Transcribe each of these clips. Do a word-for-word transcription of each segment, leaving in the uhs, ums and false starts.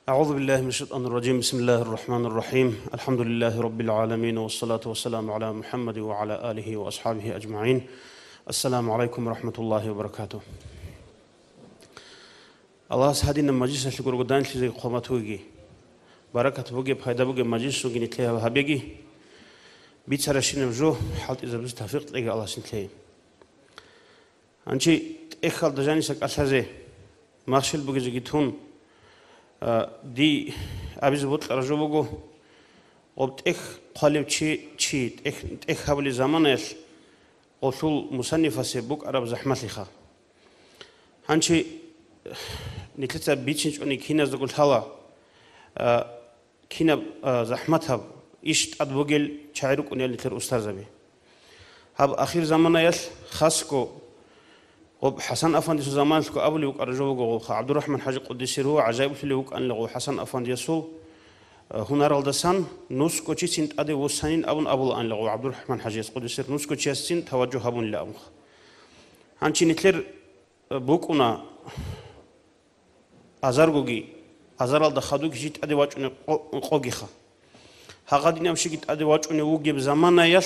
أعوذ بالله من الشيطان الرجيم. بسم الله الرحمن الرحيم. الحمد لله رب العالمين، والصلاة والسلام على محمد وعلى آله وأصحابه أجمعين. السلام عليكم ورحمة الله وبركاته. Аллагьас гьадинаб мажлисалъе гурого данлъизеги хъван батугеги, баракат бугеб, пайда бугеб мажлисунги нилъее гьабеги, бицарабщинаб жо хӀалтӀизабизе тавфикъ кьеги Аллагьас нилъее. Гьанчи тӀехьалда жаниса кӀалъазе, махщел бугезеги тун, а, дие абизе бокьараб жо буго, гъоб тӀехь хъвалев чи, чи тӀехь, тӀехь гьабулеб заманаялъ гъолъул мусаннифасе букӀараб захӀмалъиха. Гьанчи нилъеца бицинчӀони киназдаго лъала, а, кинаб, а, захӀматаб иш тӀад бугел чагӀи рукӀунел нилъер устарзаби. Гьаб ахир заманаялъ хасго, гъоб ХӀасан афандисул заманалъго абулеб букӀараб жо буго гъолха, ГӀабдурахӀман ХӀажи къуддисе ругьу гӀажаиблъулев вукӀанила гъов ХӀасан афандиясул, а, гьунаралдасан, нусго чицин тӀаде вуссанин абун абулаанила гъов ГӀабдурахӀман ХӀажияс къуддисе ругьу, нусго чиясцин таваджугь гьабунила абунха. Гьанчи нилъер, а, букӀуна азаргоги, азаралда хадуги жи тӀаде вачӀунеб къо-, къогиха. Гьагъадинаб щиги тӀаде вачӀунев вугеб заманаялъ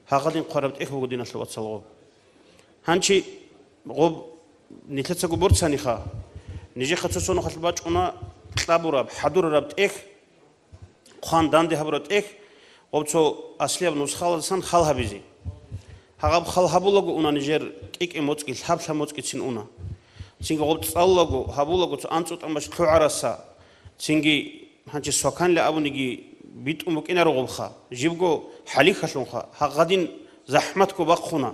гьагъадин хъвараб тӀехь буго, диналъул вацал, гъоб. Гьанчи гъоб нилъецаго борцаниха, нижехъа цо цонахъалъ бачӀуна кьабураб, хӀадурараб тӀехь, хъван данде гьабураб тӀехь, гъоб цо аслияб нусхаладасан хал гьабизе. Гьагъаб хал гьабулаго уна нижер кӀикӀе моцӀги, лъаб-лъаб моцӀгицин уна. Цинги гъоб цӀалулаго, гьабулаго цо анцӀу тӀамач лъугӀараса, цинги гьанчи сваканлъи абуниги битӀун букӀинаро гъобха, жибго хӀалихьалъунха, гьагъадин захӀматго бахъуна,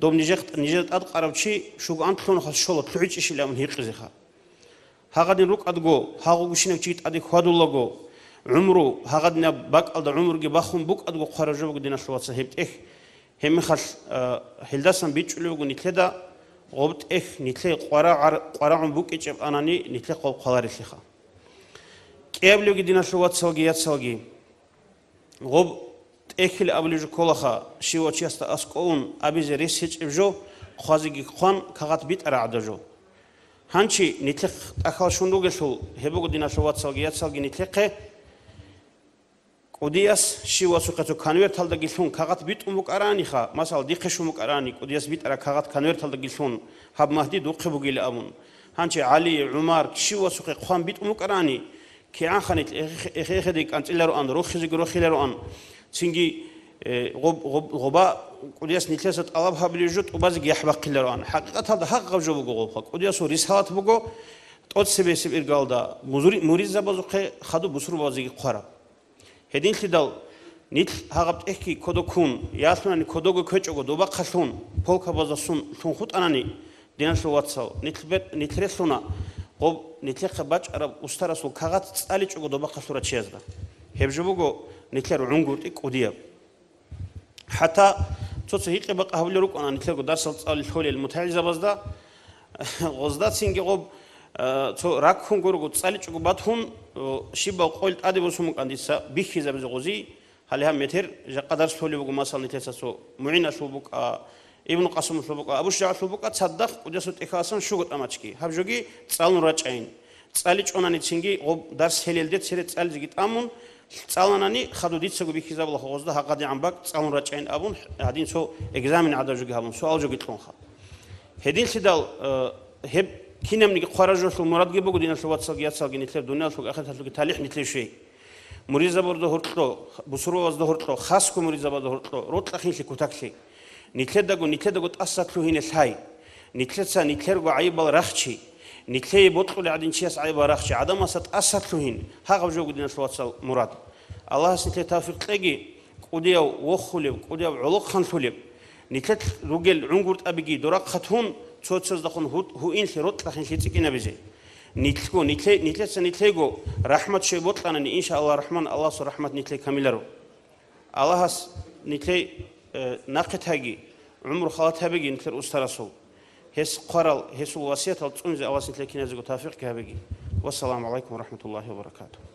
доб нижер, нижер тӀадкъарав чи шугу анлъунухъас щола лъугӀичӀищилан абун гьикъизеха. Гьагъадин рукӀадго, гьагъугущинав чи тӀаде хьвадулаго, гӀумру, гьагъадинаб бакӀалда гӀумруги бахун букӀадго хъвараб жо буго, диналъул вацал, гьеб тӀехь. Гьебмехалъ, а, гьелдасан бичӀчӀулеб буго нилъеда гъоб тӀехь нилъее къварагӀар-, къварагӀун букӀичӀеб анани, нилъехъ гъоб хъваларелъиха. КӀиабилебги, диналъул вацалги яцалги, гъоб тӀехьил абулеб жо кколаха, щивав чиясда аскӀовун абизе рес гьечӀеб жо, хъвазеги хъван, кагъат битӀараб гӀадаб жо. Гьанчи нилъехъ тӀахьал щун ругелъул, гьеб буго, диналъул вацалги яцалги, нилъехъе кӀудияс щивасухъе цо конверталдаги лъун кагъат битӀун букӀараниха, масала, дихъе щун букӀарани, кӀудияс битӀараб кагъат конверталдаги лъун, гьаб магьди духъе бугила абун. Гьанчи ГӀали, ГӀумар, щивасухъе хъван битӀун букӀарани, кигӀанха нилъ эхе-, эхе-, эхеде кӀанцӀилароан, рохизеги рохилароан. Цинги, э, гъоб-, гъоб-, гъоба кӀудияс нилъеца тӀалаб гьабулеб жо тӀубазеги яхӀ бахъилароан. ХӀакъикъаталда гьагъаб жо буго гъобха. КӀудиясул рисалат буго тӀоцебесеб иргалда музури-, муридзабазухъе хадуб бусурбабазеги хъвараб. Гьединлъидал нилъ гьагъаб тӀехьги кодо ккун, ялъунани кодого ккечӀого добахъалъун, полкабаздасун лъун хутӀанани, диналъул вацал, нилъ бе-, нилъ релълъуна гъоб нилъехъе бачӀараб устарасул кагъат цӀаличӀого добахъалъурав чиязда. Гьеб жо буго нилъер гӀунгутӀи кӀудияб. ХӀатта цо-цо гьикъи-бакъи гьабулел рукӀана нилъерго дарсал цӀалулел мутагӀилзабазда, гъоздацинги гъоб, э, цо раккун гурого цӀаличӀого батун, э, щибаб къойил тӀаде босун букӀан дица бихьизабизе гъозие, гьале гьаб метер жакъа дарс лъолеб буго, масала, нилъеца цо МугӀиналъул букӀа, Ибну Къасумалъул букӀа, Абу ШужагӀалъул букӀа, цадахъ кӀудиясул тӀехьаласан щуго тӀамачги, гьаб жоги цӀалун рачӀайин. ЦӀаличӀонаницинги гъоб дарс гьелелде цере цӀализеги тӀамун, цӀаланани хадуб дицаго бихьизабулаха гъозда гьагъадигӀан бакӀ цӀалун рачӀайин абун, гьадин цо экзамен гӀадаб жоги гьабун, суал жоги кьунха. Гьединлъидал, э, гьеб кинабниги хъвараб жолъул мурадги буго, диналъул вацалги яцалги, нилъер дуниялъулги ахираталъулги талихӀ нилъее щвей. Муридзабазда гьоркьо, бусурбабазда гьоркьо, хасго муридзабазда гьоркьо, рокьа-хинлъи кутаклъи. Нилъедаго, нилъедаго тӀаса лъугьине лъай. Нилъеца нилъерго гӀайибал рахчи. Нилъее бокьулев гӀадин чияс гӀайибал рахчи. ГӀадамасда тӀаса лъугьин. Гьагъаб жо буго, диналъул вацал, мурад. Аллагьас нилъее тавфикъ кьеги, кӀудияв вохулеб, кӀудияв гӀолохъанлъулеб, нилъелъ ругел гӀунгутӀабиги дорахъат гьун, цо-цояздехун гьу-, гьуинлъи, рокьа-хинлъи цӀикӀкӀинабизе. Нилъго, нилъе-, нилъеца нилъего рахӀмат щвей бокьанани, иншааллагь рахӀман, Аллагьасул рахӀмат нилъее камиларо. Аллагьас нилъей, э, нахъе таги, гӀумру халат гьабеги нилъер устарасул. Гьес хъварал, гьесул васиятал цӀунизе Аллагьас нилъее киназего тавфикъги гьабеги. Вассаламу гӀалайкум ва рахӀматуллагьи ва баракатугь.